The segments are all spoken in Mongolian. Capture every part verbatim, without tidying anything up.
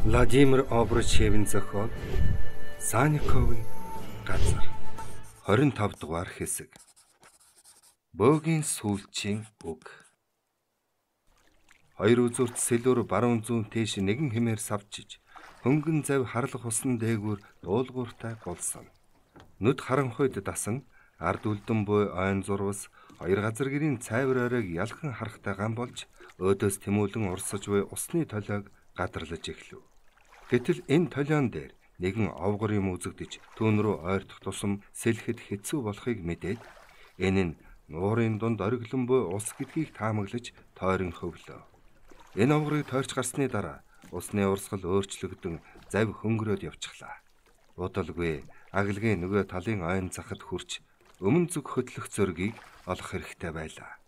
Владимир Обручевийн зохиол Санниковын газар хорин тав дугаар хэсэг. Бөөгийн сүүлчийн үг. Хоёр үзүүрт сэлүүр баруун зүүн тийш нэгэн хэмээр савчиж хөнгөн зав харлах усан дээгүүр дуулууртай болсон. Нүд харанхуйд дасан ард үлдэн буй ойн зурвас хоёр газар гэрийн цайвар оройг ялхан харахтай гам болж өөдөөс тэмүүлэн урсаж буй усны толиог гадарлаж эхлэв. Гэтэл энэ толион дээр нэгэн овгор юм үзэгдэж түүн рүү ойртох тусам сэлэхэд хэцүү болохыг мэдээд энэ нь нуурын дунд ориглон буй ус гэдгийг таамаглаж тойрон хөвлөө. Энэ овгорыг тойрч гарсны дараа усны урсгал өөрчлөгдөн зав хөнгөрөөд явчихлаа. Удалгүй аглагийн нөгөө талын ойн захад хүрч өмнө зүг хөдлөх зөргийг олох хэрэгтэй байлаа.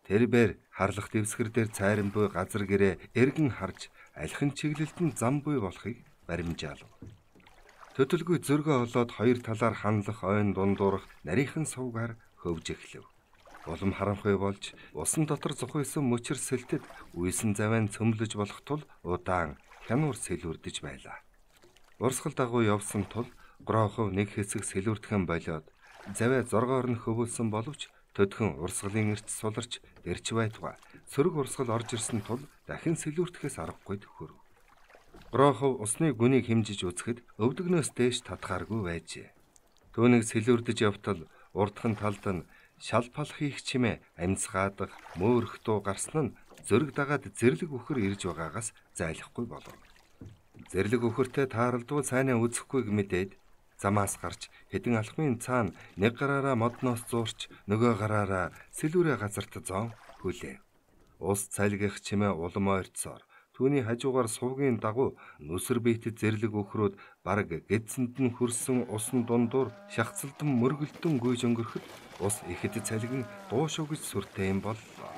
Тэрбээр харлах дэвсгэр дээр цайран буй газар гэрээ эргэн харж алхин чиглэлтэн зам буй болохыг баримжаалав. Төдөлгүй зөргөө олоод хоёр талаар ханлах ойн дундуурах нарийнхан сувгаар хөвж эхлэв. Улам харанхуй болж усан дотор зухайсан мөчр сэлтэд үйсэн завайн цөмлөж болох тул удаан хянуур сэлүүрдэж байлаа. Урсгал дагуу явсан тул гроохов нэг хэсэг сэлүүрдхэн болоод заваа зоргоор нь хөвөлсөн боловч төдхөн урсгалын эрт суларч эрч байтугай сөрөг урсгал орж ирсэн тул дахин сэлүүрдэхээс аргагүй төхөрв. Гроохов усны гүнийг хэмжиж үзэхэд өвдөгнөөс дээш татхааргүй байжээ. Түүнийг сэлүүрдэж явтал урдхан талд нь шалпал хийх чимээ амьсгаадах мөөрөх дуу гарсан нь зөрөг дагаад зэрлэг үхэр ирж байгаагаас зайлахгүй болов. Зэрлэг үхэртэй тааралдвал сайнаа үзэхгүйг мэдээд замаас гарч хэдэн алхмын цаана нэг гараараа модноос зуурч нөгөө гараараа сэлүүрээ газарт зоон хүлээв. Ус цалгих чимээ улам ойрцоор түүний хажуугаар сувгийн дагуу нүсэр биетэд зэрлэг өхрөөд бараг гэдсэнд нь хөрсөн усан дундуур шахацлдан мөргөлдөн гүйж өнгөрөхөд ус ихэд цалгин дуушуу гэж сүртэй юм боллоо.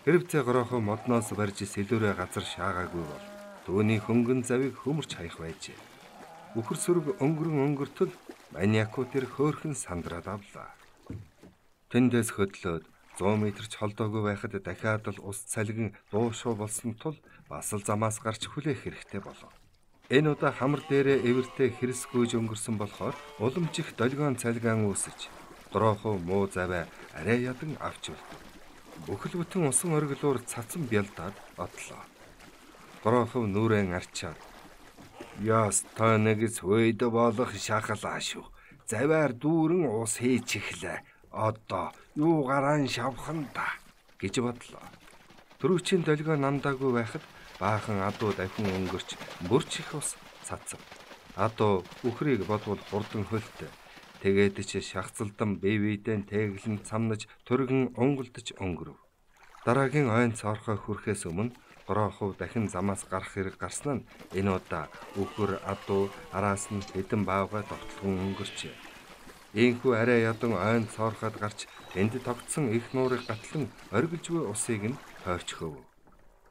Хэрвээ гороохоо модноос барьж сэлүүрээ газар шаагаагүй бол түүний хөнгөн завыг хөмөрч хаях байжээ. Үхэр сүрэг өнгөрөн өнгөртөл маниаку тэр хөөхөн сандраад авлаа. Тэндээс хөдлөөд зуун метр ч холдоогүй байхад дахиад л ус цалгин дуушуу болсон тул бас л замаас гарч хүлээх хэрэгтэй болов. Энэ удаа хамар дээрээ эвэртэй хэрэс гүйж өнгөрсөн болохоор уламжих долгион цалгаан үүсэж гроохов муу заваа арай ядан авч үлдэв. Бүхэл бүтэн усан оргилуур цацсан бялдаад одлоо. Гроохов нүрэн арчаад яс танагс хойд болох шахалаа шүү. Заваар дүүрэн ус хийж эхлээ. Одоо юу гараан шавхан та гэж бодлоо. Төрөвчийн долгио намдаагүй байхад баахан адуу дахин өнгөрч бүрч их ус цацав. Адуу үхрийг бодвол хурдан хөлтө. Тэгээд ч шахацлдан бие биедээ тэглэн цамнаж төргөн унгалдаж өнгөрөв. Дараагийн ойн цоорхой хүрэхээс өмнө гроохов дахин замаас гарах хэрэг гарсан нь энэ удаа үхэр адуу араас нь хэдэн баавгай тогтлон өнгөрчээ. Ийхүү арай ядан ойн цоорхоод гарч энд тогтсон их нуурыг гатлан оргилж буй усыг нь тойрч хөвөв.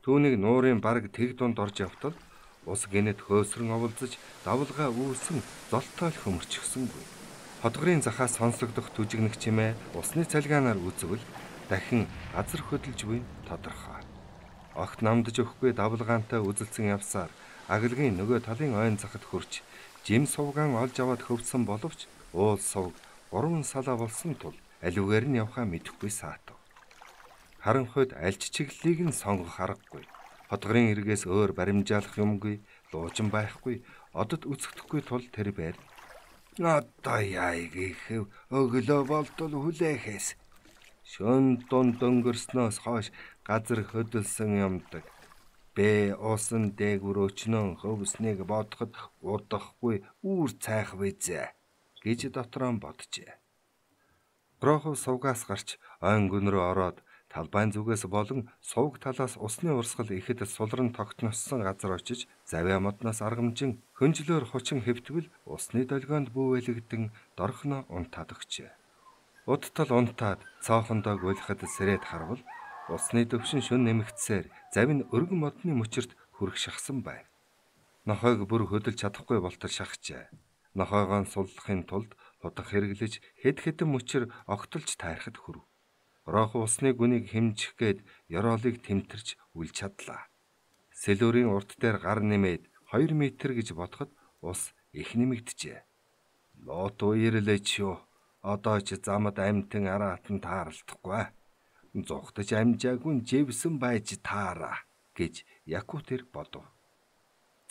Түүнийг нуурын бараг тэг дунд орж явтал ус гинэд хөөсрөн оволзож давлгаа үүсэн золтой л хөмөрчихсөнгүй. Хотгорын захаас сонсогдох түжигнэх чимээ усны цалгаанаар үзвэл дахин газар хөдөлж буй тодорхой. Огт намдж өгөхгүй давлгаантай үзэлцэн явсаар аглагийн нөгөө талын ойн захад хүрч жим сувгаан олж аваад хөвсөн боловч уул сувг гурван салаа болсон тул аливаар нь явхаа мэдэхгүй саатав. Харанхуйд альч чиглэлийг нь сонгох аргагүй. Хотгорын эргээс өөр баримжаалах юмгүй, дуучин байхгүй, одод үсгэхгүй тул тэр байр. Одоо яайг ихэв өглөө болтол хүлээхээс. Шөн дунд өнгөрснөөс хойш газар хөдөлсөн юмдаг. Бэ усан дээгүр өчнөн хөвснийг бодоход удахгүй үүр цайх вэзэ гэж дотроо боджээ. Гроохов сувгаас гарч ойн гүн рүү ороод талбайн зүгээс болон сувг талаас усны урсгал ихэд сулран тогтноссон газар очиж завья модноос аргамжин хөнжлөөр хучин хэвтвэл усны долгионд бүүвэлэгдэн дорхно унтаад өгчээ. Удтал унтаад цоохондоо гүйлэхэд сэрээд харвал усны төвшин шүн нэмэгдсээр завь нь өргөн модны мөчөрт хүрэх шахсан байв. Нохойг бүр хөдөлж чадахгүй болтол шахжээ. Нохойгоо суллахын тулд хутга хэрэглэж хэд хэдэн мөчөр огтолж тайрахад хүрв. Гроохов усны гүнийг хэмжих гээд ёроолыг тэмтэрч үл чадлаа. Сэлүүрийн урт дээр гар нэмээд хоёр метр гэж бодоход ус их нэмэгдэжээ. Лот уирлээч юу. Одоо ч замд амьтан араатан тааралдахгүй. Зугтаж амжаагүй живсэн байж таараа гэж Якутер бодов.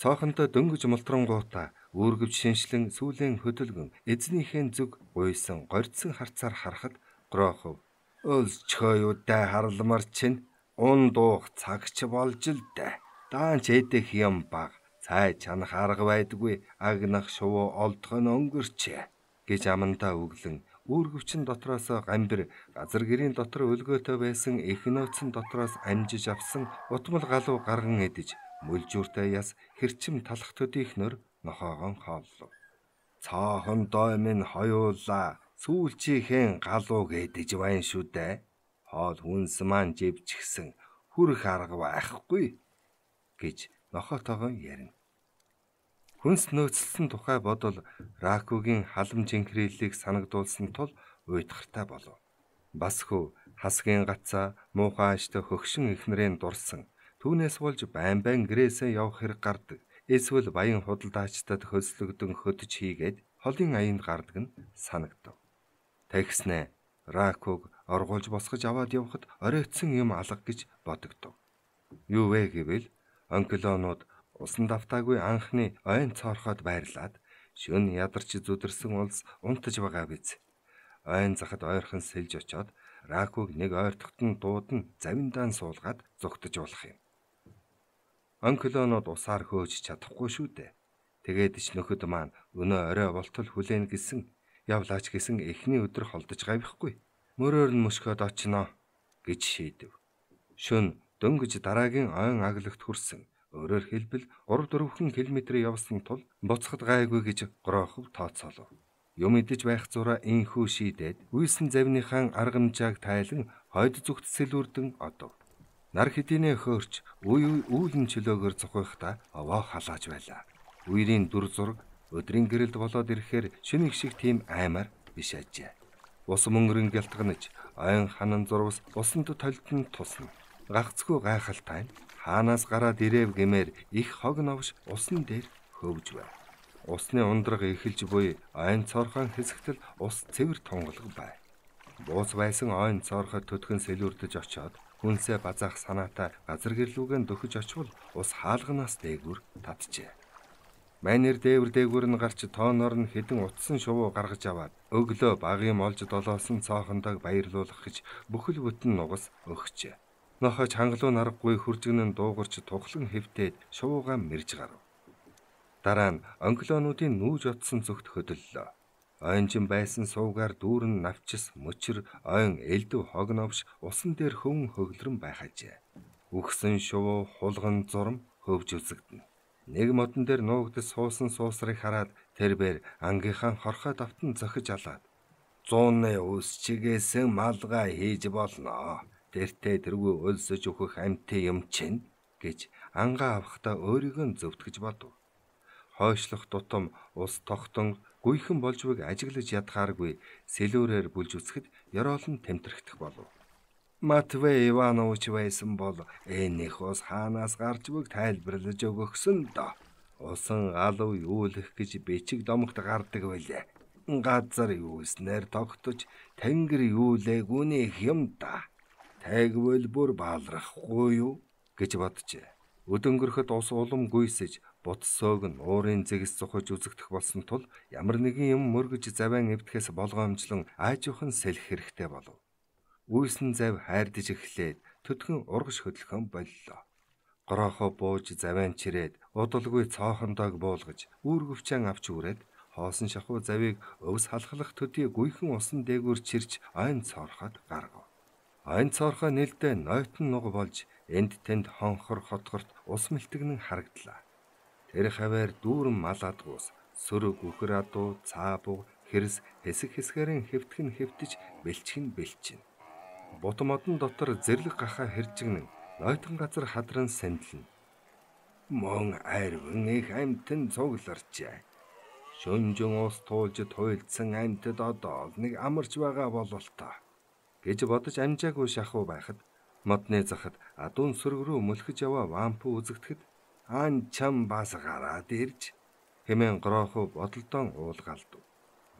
Цоохонтой дөнгөж молтрангуудаа үүргэвч шиншлэн сүүлийн хөдөлгөн эзнийхээ зүг гуйсан горьдсон харцаар харахад Грохов өлсчхөө юутай харламар чинь ун дуух цагч болж л дээ. Даанч эдэх юм баг. Цай чанах арга байдгүй агнах шувуу олдох нь өнгөрчээ гэж амандаа өглөн үүргэвчин дотроос гамбир газар гэрийн дотор өлгөөтэй байсан их нөөцөн дотроос амжиж авсан утмал галуу гарган эдэж мөлжүүртэй яс хэрчим талах төдийхнөр нохоогон хооллов. Цаахон дой минь хоёулаа сүүлчийнхэн галууг эдэж байна шүү дээ. Хоол хүнс маань живчихсэн хүрх арга байхгүй гэж нохотойгоо ярина. Хүнс нөөцлсөн тухай бодол Ракугийн халамж инхрийллийг санагдуулсан тул уйтгартай болов. Бас хөө хасгийн гацаа муухай аштай хөгшин ихнэрийн дурсан. Түүнээс болж байн байн гэрээсээ явах хэрэг гардаг. Эсвэл баян худалдаачдад хөслөгдөн хөдөж хийгээд холын аянд гардаг нь санагдав. Тэгснэ Ракуг оргуулж босгож аваад явхад оройтсон юм алга гэж бодогдов. Юу вэ гэвэл онклонууд усан давтаагүй анхны ойн цоорхоод байрлаад шөнө ядарч зүдэрсэн улс унтаж байгаа биз. Ойн захад ойрхон сэлж очоод Ракуг нэг ойртогт нь дуудан завиндаан суулгаад зүгтж болох юм. Онклонууд усаар хөөж чадахгүй шүү дээ. Тэгээд ч нөхөд маань өнөө орой болтол хүлээн гэсэн явлаач гэсэн эхний өдөр холдож гавихгүй. Мөрөөр нь мөшгөөд очноо гэж шийдэв. Шөнө дөнгөж дараагийн ойн аглагт хүрсэн. Өөрөөр хэлбэл гурав дөрвөн километр явсан тул буцахад гайгүй гэж Грохов тооцоолов. Юм идэж байх зураа инхүү шийдээд үйсэн завныхаа аргамжааг тайлан хойд зүгт сэлүүрдэн одов. Нар хэдийнэ хөөрч үе үүлэн чөлөөгөр зохиохта овоо халааж байлаа. Үерийн дүр зураг өдрийн гэрэлд болоод ирэхээр шөнө их шиг тийм аймаар биш ажээ. Ус мөнгөрөн гялтганаж ойн ханан зурвас усанд толтон тусна. Гагцгүй гайхалтай хаанаас гараад ирэв гэмээр их хог новш усан дээр хөвж байв. Усны ундраг эхэлж буй ойн цорхон хэсэгтэл ус цэвэр тунгалаг байв. Буус байсан ойн цорхот төдгөн сэлүүрдэж очоод хүнсээ базаах санаатай газар гэрлүүгэн дөхөж очвол ус хаалганаас дээгүр татжээ. Майнер дээвэр дээгүр нь гарч тооноор нь хэдэн утсан шувуу гаргаж аваад өглөө багийн олж долоосон цоохондог баярлуулах гэж бүхэл бүтэн нугас өгчээ. Нохож хангалуун аргагүй хуржигнэн дуугарч тухлан хэвтээд шувуугаа мэрж гарав. Дараа нь онклонуудын нүүж отсон зүгт хөдөллөө. Ойнжин байсан суугаар дүүрэн навчис мөчр ойн элдв хог новш усан дээр хөвн хөглөрөн байхажээ. Үхсэн шувуу хулган зурм хөвж үзэгдэнэ. Нэг модон дээр нуугдас суусан суусрыг хараад тэрбээр ангийнхаа хорхой давтан зохиж алаад зууны ус чигээсэн малгай хийж болно. Тэртээ тэргүй өлсөж өгөх амьтын юм чинь гэж ангаа авахдаа өөрийгөө зөвтгөж бодов. Хойшлох тутам ус тогтон гүйхэн болж байг ажиглаж ядгааргүй сэлүүрээр бүлж үсгэд ёроолн тэмтэрхтэх болов. Матвей Иванович байсан бол энийх ус хаанаас гарч байг тайлбарлаж өгөхсөн доо. Усан галуу юулах гэж бичиг домогт гардаг байлээ. Газар юуснээр тогтож тэнгэр юулээгүнийх юм да. Тайгвал бүр баалрахгүй юу гэж боджээ. Өдөнгөрөхөд ус улам гүйсэж бутсоог нь уурын зэгс цухаж үзэгдэх болсон тул ямар нэгэн юм мөргөж завиан эвдэхээс болгоомжлон аажуухан сэлэх хэрэгтэй болов. Үйсэн зав хайрдаж эхлээд төдгөн ургаш хөдлөхөн боллоо. Грохо бууж завиан чирээд удалгүй цоохондоог буулгаж үүргэвчэн авч үрээд хоосон шахуу завийг өвс халахлах төдий гүйхэн усан дээгүүр чирч ойн цоорхоод гаргав. Ойн цоорхоо нэлдэ нойтон нуг болж энд тэнд хонхор хотгорт ус мэлтэгнэн харагдлаа. Тэр хаваар дүүрэн мал адгуус, сөрөг үхэр адуу, цаабуу, хэрс хэсэг хэсгэрэн хэвтгэн хэвтэж бэлчгэн бэлчин. Бут модон дотор зэрлэг гахаа хэржигнэн нойтон газар хадран сэндлэн. Мон айрвэн их амьтан цугларчээ. Шөнжин ус туулж туйлдсан амьтад одоо нэг амарч байгаа бололтой гэж бодож амжаагүй шахуу байхад модны захад адуун сөрөг рүү мөлхөж яваа вампу үзэгдэхэд Ан чам бас гараад ирж хэмээн Грохов бодолдон уулгалдав.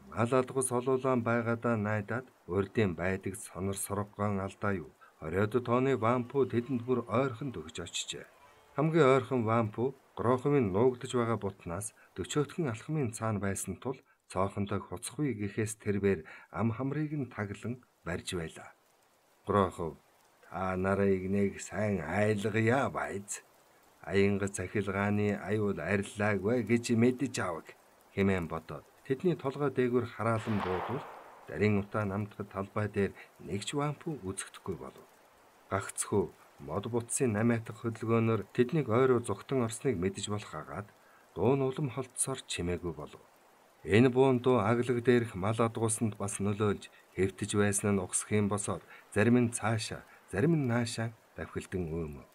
Мал алгас олуулан байгаадаа найдаад урдын байдаг сонор соргоон алдаа юу. Хориод тооны вампу тэдэнд бүр ойрхон төгж очижээ. Хамгийн ойрхон вампу Гроховын нуугдж байгаа бутнаас дөчөөтгөн алхмын цаана байсан тул цоохонтой хуцахгүй гэхээс тэрбээр ам хамрыг нь таглан барьж байлаа. Грохов та нарыг нэг сайн айлгая байз. Аянга захилгааны аюул арилаагүй гэж мэдэж авах хэмээн бодоод тэдний толгой дээгүүр хараалан буудвал дарин утаа намтгад талбай дээр нэгч вампу үзэгдэхгүй болов. Гагцхүү мод бутсын намайтах хөдөлгөөнөөр тэднийг ойроо зүгтэн орсныг мэдэж болох агаад дуун улам холдсоор чимээгүй болов. Энэ буун дуу аглаг дээрх мал адгуусанд бас нөлөөлж хэвтэж байсан нь ухсах юм босоод зарим нь цаашаа, зарим нь наашаа давхилдан өөмөв.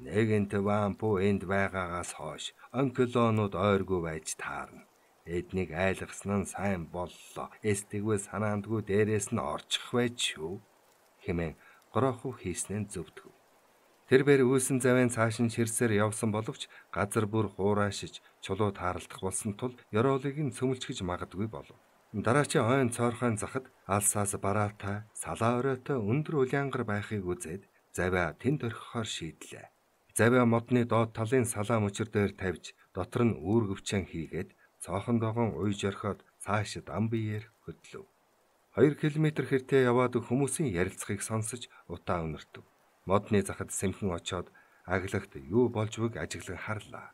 Нэгэнт вампу энд байгаагаас хойш онколонууд ойргүй байж таарна. Эднийг айлгасан нь сайн боллоо. Эстэгвэ санаандгүй дээрээс нь орчих байж шүү хэмээн Грохов хийснээр зөвдгөв. Тэрбээр үүсэн завын цааш нь ширсээр явсан боловч газар бүр хуурайшиж чулуу тааралдах болсон тул ёроолыг нь цөмөлчгөж магадгүй болов. Дараачийн хойн цоорхойн захад алсаас бараатай, салаа оройтой өндөр улянгар байхыг үзээд завиа тэнд орхихоор шийдлээ. Завиа модны доод талын салаа мөчөр дээр тавьж дотор нь үүргэвчэн хийгээд цоохон догоон уйж орхиод цаашид ам биеэр хөдлөв. Хоёр километр хэртээ яваад хүмүүсийн ярилцахыг сонсож утаа өнөртөв. Модны захад сэмхэн очоод аглагт юу болж байгааг ажиглан харлаа.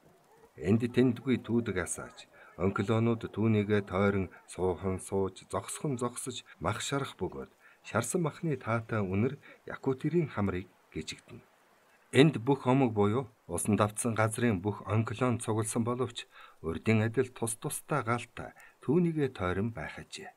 Энд тэндгүй түүдэг асааж, онколонууд түүнийгээ тойрон суухан сууж, зогсхон зогсож, мах шарах бөгөөд шарсан махны таатай үнэр Якутирийн хамрыг гжигдэнэ. Энд бүх омог буюу усан давтсан газрын бүх онколон цугласан боловч урдын адил тус тустай галтай түүнийгээ тойрон байх ажээ.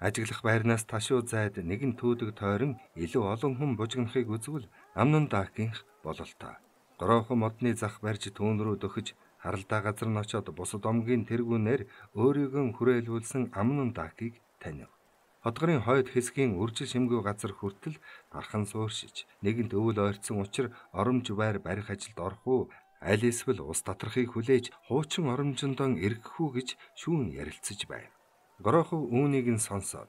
Ажиглах байрнаас ташуу зайд нэгэн түүдэг тойрон илүү олон хүн бужигнахыг үзвэл амнан даакийнх бололтой. Грохов модны зах барьж түүн рүү дөхөж харалдаа газар нь очоод бусад омгийн тэргүүнээр өөрийгөө хүрээлүүлсэн амнан даакийг танив. Хотгорын хойд хэсгийн үржил шимгүй газар хүртэл дархан сууршиж нэгэнт өвөл ойрцсон учир оромж байр барих ажилд орох уу аль эсвэл ус татрахыг хүлээж хуучин оромжондон эргэх үү гэж шүүн ярилцаж байв. Грохов үүнийг нь сонсоод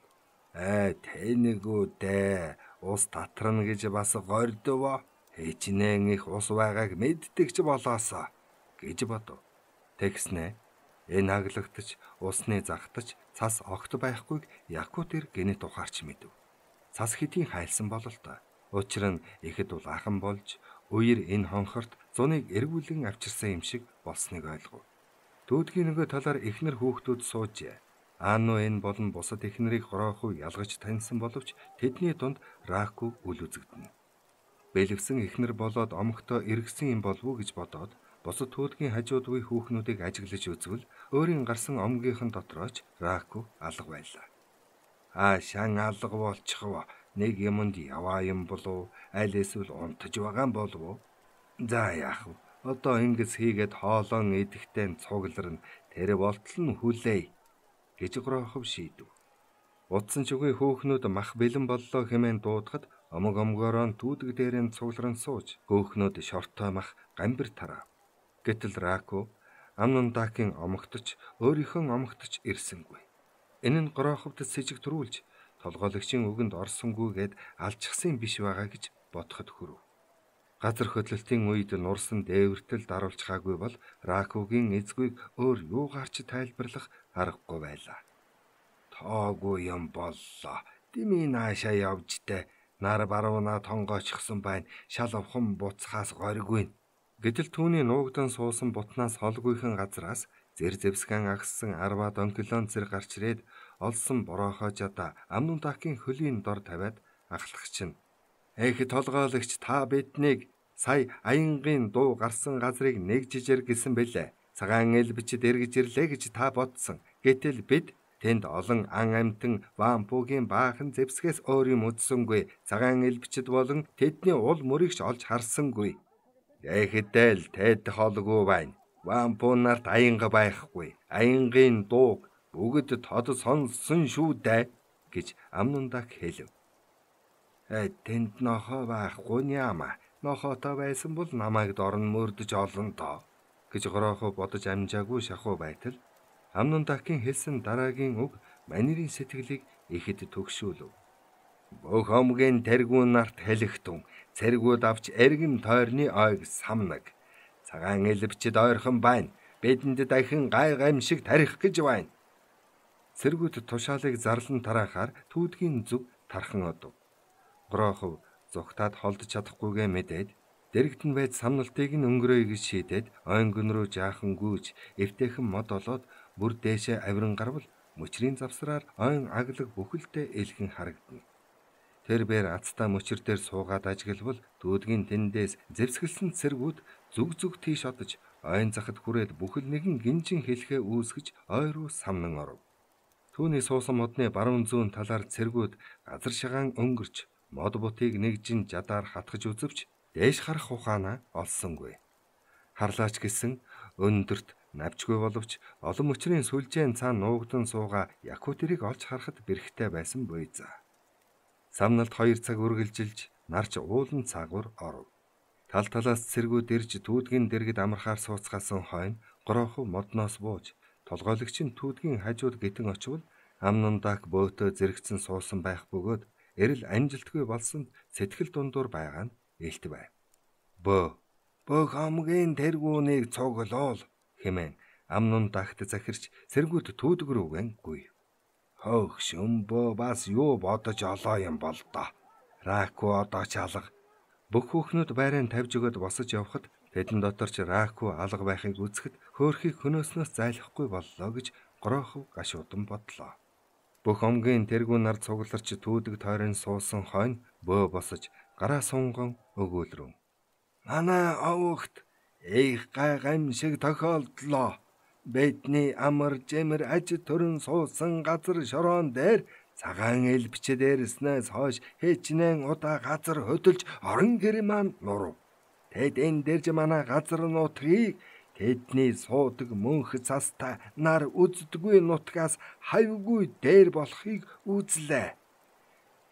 "Ээ тэнэгүү дээ ус татрна гэж бас гордов. Хэчнээн их ус байгааг мэддэгч болоосоо" гэж бодов. Тэгснэ энэ аглагтч усны загтаж цас огт байхгүйг Якутэр гэнэт ухаарч мэдэв. Цас хэдийн хайлсан бололтой. Учир нь ихэд улаахан болж үер энэ хонхорт зуныг эргүүлэн авчирсан юм шиг болсныг ойлгов. Дүүдгийн нөгөө талаар эхнэр хүүхдүүд суужээ. Аано энэ болон бусад эхнэрийг Грохов ялгаж таньсан боловч тэдний дунд Раку үл үзэгдэнэ. Бэлэвсэн эхнэр болоод омогтоо эргэсэн юм болов уу гэж бодоод бусад түүдгийн хажууд буй хүүхнүүдийг ажиглаж үзвэл өөрийн гарсан омгийнхэн дотрооч Раку алга байлаа. Аа шан алга болчихвоо. Нэг юмд яваа юм болов аль эсвэл унтаж байгаа юм болов. За яах вэ? Одоо ингэс хийгээд хоолон идэхтэй цугларна. Тэр болтол нь хүлээе гэж Грохов шийдэв. Утсан чугийн хөөхнүүд мах бэлэн боллоо хэмээн дуудахад омог омгороо түүдэг дээрээ цугларн сууж хөөхнүүд шортой мах гамбир тарав. Гэтэл Раку амнан даакийн омогтч өөрийнхөө омогтч ирсэнгүй. Энэ нь Гроховд сэжиг төрүүлж толгойлогчийн үгэнд орсонгүйгээд алчхсан биш байгаа гэж бодоход хүрв. Газар хөдлөлтийн үед нурсан дээвэртэл даруулж хаагүй бол Ракугийн эзгүйг өөр юугаарч тайлбарлах аргагүй байлаа. Тоогүй юм боллоо. Дими наашаа явжтэй. Нар барууна тонгоочсон байна. Шал овхон буцхаас горьгүй. Гэтэл түүний нуугдан суусан бутнаас холгүйхэн газраас зэр зэвсгэн агссан арваад онкилон зэрэг гарч ирээд олсон бороохоо жада амнун даакийн хөлийн дор тавиад ахлагч нь "Эх толгойлогч та биднийг сая аянгийн дуу гарсан газрыг нэг жижиг гэсэн бэлээ. Цагаан эл бичид эргэж ирлээ гэж та бодсон. Гэтэл бид тэнд олон ан амтан вампугийн баахан зэвсгээс өөр юм үзсэнгүй. Цагаан эл бичид болон тэдний ул мөрөгч олж харсангүй. Эхэдэл тэд холгүй байна. Вампу нарт аянга байхгүй. Аянгийн дууг бүгд тод сонссон шүү дээ" гэж амнун даак хэлв. "Э тэнд нохоо байхгүй нямаа. Нохотой байсан бол намайг дорн мөрдөж олон доо гэж Горохов бодож амжаагүй шахуу байтал Амнон дахин хэлсэн дараагийн үг манерийн сэтгэлийг ихэд төгшүүлв. Бөх омгийн тэргүүн нарт хэлэхтун цэргүүд авч эргэм тойрны ойг самнаг. Цагаан элбчэд ойрхон байна. Бидэнд дахин гай гамшиг тарих гэж байна. Цэргүүд тушаалыг зарлан тараахаар түүдгийн зүг тархан одов. Горохов зүгтаад холдож чадахгүйгээ мэдээд дэрэгт нь байж самналтыг нь өнгөрөөе гэж шийдээд ойнгон руу жаахан гүйж эвтэйхэн мод олоод бүр дээшээ авиран гарвал мөчрийн завсраар ойн аглаг бүхэлдээ элхэн харагдана. Тэр бээр ацтай мөчр дээр суугаад ажиглавал дүүдгийн тэндээс зэвсгэлсэн цэргүүд зүг зүг тийш одож ойн захад хүрээд бүхэл нэгэн гинжин хэлхээ үүсгэж ой руу самнан оров. Түүний суусан модны баруун зүүн талаар цэргүүд газар шагаан өнгөрч мод бутыг нэгжин жадаар хатгаж үзвч дээш харах ухаанаа олсонгүй. Харлаач гэсэн өндөрт навчгүй боловч олон мөчрийн сүлжээн цаана нуугдан сууга Якутэрийг олж харахад бэрхтээ байсан буй за. Самналт хоёр цаг үргэлжилж нарч уулан цаагуур оров. Тал талаас цэргүүд ирж түүдгийн дэргэд амархаар сууцгаасан хойно Горохов модноос бууж толгойлогч нь түүдгийн хажууд гитэн очивол Амнон дах бөөтөө зэрэгцэн суусан байх бөгөөд эрэл амжилтгүй болсон сэтгэл дундуур байгаа нь илт байв. Бөө бөх омгийн тэргүүнийг цуглуул хэмээн Амнон дахт захирч цэргүүд түүдэг рүүгэн гүйв. Хөх шөмбөө бас юу бодож олоо юм бол доо. Раку одоо ч алга. Бүх хүүхнүүд байраа тавьж өгöd босож явхад тэдэн дотор ч Раку алга байхыг үзэхэд хөөрхийг хөнөөснөөс зайлахгүй боллоо гэж Горохов гашуудан бодлоо. Бүх омгийн тэргүүн нар цугларч түүдэг тойрон суусан хойно бөө босож гараа сунгон өгүүлрөв. Манай овогт их гай гамшиг тохиолдлоо. Бидний амар жимэр аж төрөн суусан газар шороон дээр цагаан элбчэд дээрснээс хойш хэчнээн удаа газар хөдөлж орон гэр маань нурав. Тэд энэ дэрж манай газар нутгийг тэдний суудаг мөнх цастай нар үздэггүй нутгаас хавьгүй дээр болохыг үзлээ.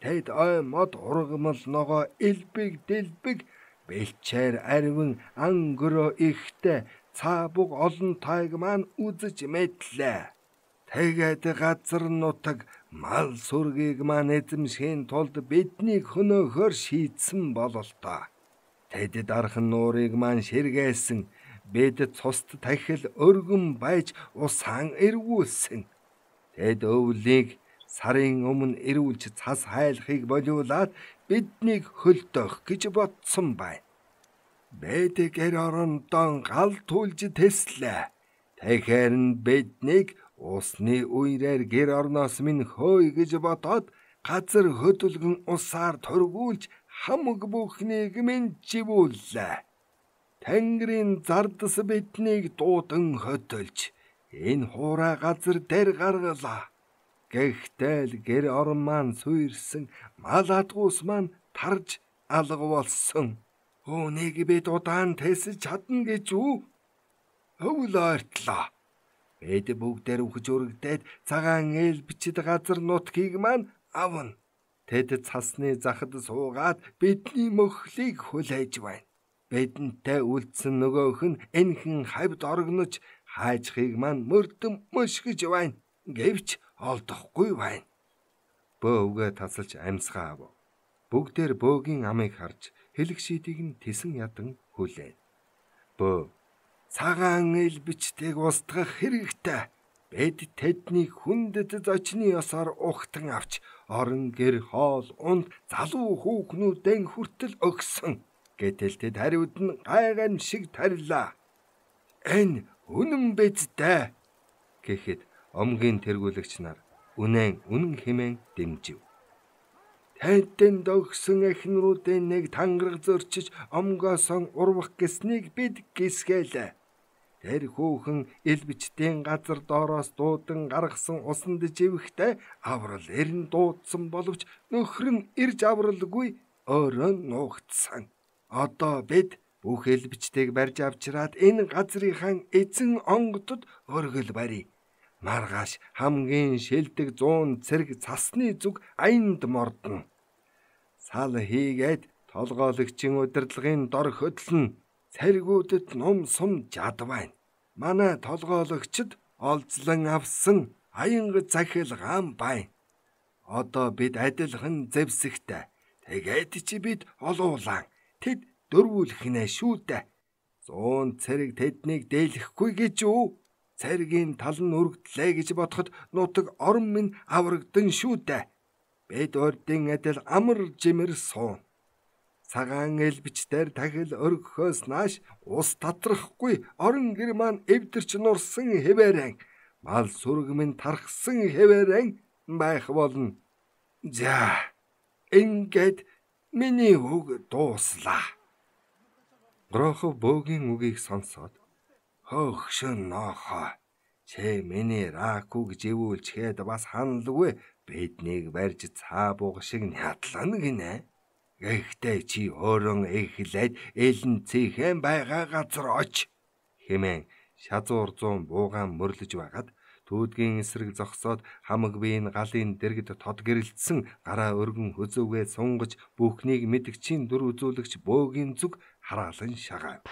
Тэд ой мод ургамал ногоо элбэг дэлбэг бэлчээр арвин ангөрөө ихтэй цаабуг олон тайг маань үзэж мэдлээ. Тэгээд газар нутаг мал сүргийг маань эзэмшхийн тулд биднийг хөнөөхөр шийдсэн бололтой. Тэд дархан нуурыг маань ширгээсэн. Бид цуст тахил өргөн байж усаан эргүүлсэн. Тэд өвлийг сарын өмнө эрүүлж цас хайлахыг болиулаад биднийг хөлдөөх гэж бодсон байна. Бид гэр орондоо гал түлж тэслээ. Тэгэхээр нь биднийг усны үерээр гэр орноос минь хөөе гэж бодоод газар хөдөлгөн усаар тургуулж хамаг бүхнийг минь живүүллээ. Тэнгэрийн зардас биднийг дуудан хөдөлж энэ хуурай газар дээр гаргалаа. Гэхдээ л гэр орон маань суурьсан мал адгуус маань тарж алга болсон. Үүнийг бид удаан тэсэж чадна гэж үү? Өвл ойртлоо. Бид бүгдээр үхэж өргөдөөд цагаан элбчэд газар нутгийг маань авна. Тэд цасны захад суугаад бидний мөхлийг хүлээж байна. Бидэнтэй үлдсэн нөгөөх нь энхэн хавьд оргинож хаажхыг маань мөрдөн мөшгөж байна. Гэвч олдохгүй байна. Бөө үгээ тасалж амьсгаа ав. Бүгдээр бөөгийн амыг харж хэлэх шийдийг нь тесэн ядан хүлээн. Бөө цагаан элбчтэйг устгах хэрэгтэй. Бид тэдний хүндэт зочны ёсоор ухтан авч орон гэр хоол унд залуу хүүхнүүдэн хүртэл өгсөн. Гэтэл тэд хариуд нь гайган шиг тарилаа. Энэ үнэн биздэ гэхэд омгийн тэргүүлэгч нар үнэн үнэн хэмээн дэмжив. Тэдэнд өгсөн эхнэрүүдийн нэг тангараг зөрчиж омгоосон урвах гэснийг бид гисгэлээ. Тэр хүүхэн элбчдийн газар доороос дуудан гаргасан усанд живэхдээ аврал эрен дуудсан боловч нөхөр нь ирж авралгүй өөрөө нуугдсан. Одоо бид бүх элбчтэйг барьж авчираад энэ газрынхан эзэн онгодод өргөл барья. Маргааш хамгийн шилдэг зуун цэрэг цасны зүг аянд мордно. Сал хийгээд Толгойлогчийн удирдлагын дор хөдлөн цэргүүдэд ном сум жадвайн. Манай толгойлогчд олзлон авсан аянга захил гам байн. Одоо бид адилхан зэвсэгтэй. Тэгээд чи бид олуулан тэд дөрвүүлэх нэ шүү дээ. Зуун цэрэг тэднийг дээлэхгүй гэж үү? Цэргийн тал нь өргөдлээ гэж бодоход нутаг орон минь аврагдан шүү дээ. Бид урдын адил амар жимэр суун. Цагаан элбичдэр тахил өргөхөөс нааш ус татрахгүй орон гэр маань эвдэрч нурсан хэвээрэн мал сүрэг минь тархсан хэвээрэн байх болно. За ингээд миний үг дууслаа. Грохов бөөгийн үгийг сонсоод хөөхшөн нохоо чи миний ракуг живүүлчгээд бас ханалгүй биднийг барьж цаа бууг шиг нядлана гинэ. Гэхдээ чи өөрөө эхлээд элэн цэхэн байгаа газар оч хэмээн шазуур зуун буугаан мөрлөж байгаад түүдгийн эсрэг зогсоод хамаг биеийн галын дэргэд тод гэрэлтсэн гараа өргөн хөзөөгөө сунгаж бүхнийг мэдгчийн дүр үзүүлэгч бөөгийн зүг хараалан шагаав.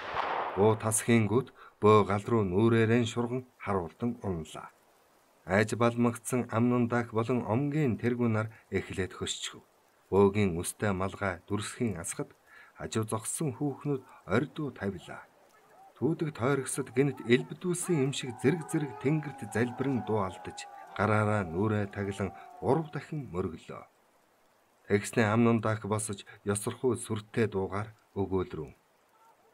Буу тасхийн гүд бөө гал руу нүрээрэн шурган харуулдан унлаа. Айж балмагцсан амнан дах болон омгийн тэргүүнаар эхлээд хөсчөв. Бөөгийн үстэй малгай дүрсхийн асхад хажуу зогссон хүүхнүүд ордуу тавилаа. Түүдэг тойрогсод гинт элбдүүлсэн юм шиг зэрэг зэрэг тэнгэрт залбирэн дуу алдаж гараараа нүрээ таглан гурав дахин мөргөлөө. Тэгснэ амнан дах босож ёсорхуу сүртэй дуугаар өгөөлрөв.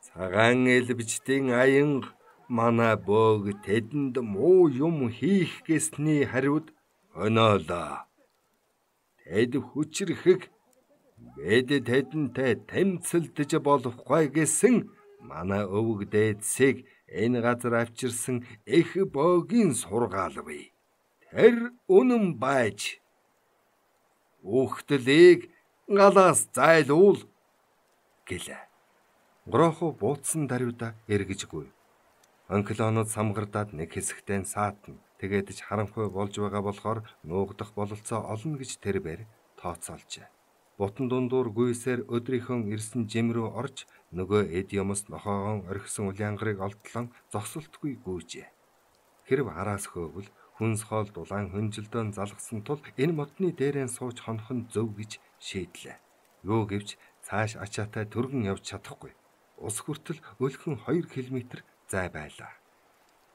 Цагаан элбжтийн аянга манай бөөг тэдэнд муу юм хийх гэсний хариуд өнөөлөө. Тэд хүчрэхэг бид тэдэнтэй тэмцэлдэж болохгүй гэсэн манай өвөг дээдсийг энэ газар авчирсан их бөөгийн сургаал бий. Тэр үнэн байж үхтлийг галаас зайлуул гэлээ. Грохов бууцсан даруйда эргэжгүй. Онклонууд самгардаад нэг хэсэгтээ саатна. Тэгээд ч харанхуй болж байгаа болохоор нуугдах бололцоо олно гэж тэр бэр тооцоолжээ. Бутан дундуур гүйсээр өдрийнхөө ирсэн жим рүү орж нөгөө эд юмс нохоогон орхисон улаангарыг олдлон зогсолтгүй гүйжээ. Хэрв араас хөөвөл хүнс хоол дулаан хөнжилдөөн залгсан тул энэ модны дээрэн сууж хонох нь зөв гэж шийдлээ. Юу гэвч цааш ачаатай түргэн явж чадахгүй. Ус хүртэл өлхөн хоёр километр зай байлаа.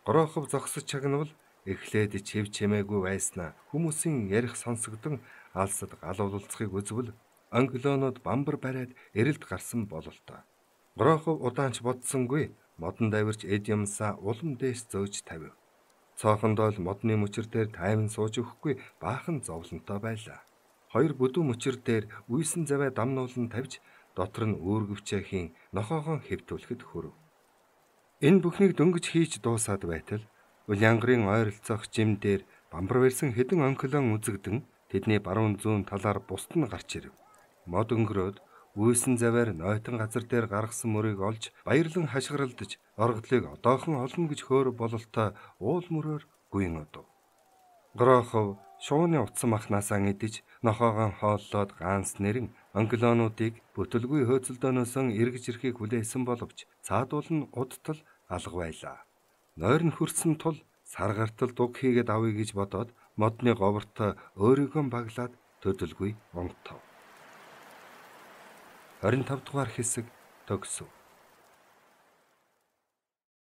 Грохов зогсож чагнавал эхлээд чив чимээгүй байснаа хүмүүсийн ярих сонсогдсон алсад галуулцахыг үзвэл англонууд бамбар бариад эрэлд гарсан бололтой. Грохов удаанч бодсонгүй модон давирч эд юмсаа улам дээш зөөж тавив. Цоохондоо л модны мөчөр дээр тайван сууж өгөхгүй баахан зовлонтой байлаа. Хоёр бүдүү мөчөр дээр үйсэн заваа дамнуулан тавьж дотор нь үүргэвчээхийн нохоогоо хэвтүүлэхэд хүрв. Энэ бүхнийг дөнгөж хийж дуусаад байтал улаангарын ойролцоох жим дээр бамбар барьсан хэдэн онклон үзэгдэн тэдний баруун зүүн талаар бусд нь гарч ирэв. Мод өнгөрөөд үйсэн заваар нойтон газар дээр гаргасан мөрийг олж баярлан хашгиралдаж оргодлыг одоохон олно гэж хөөр бололтой уул мөрөөр гүйн одов. Грохов шууны утсан махнасаа идэж нохоогоо хооллоод ганц нэрэн онклонуудыг бүтэлгүй хөөцөлдөөнөөс эргэж ирэхийг хүлээсэн боловч цаадуул нь удтал алга байлаа. Нойр нь хүрсэн тул саргартал дуг хийгээд авъя гэж бодоод модны говартой өөрийгөө баглаад төдөлгүй унтав. хорин тав дугаар хэсэг төгсөв.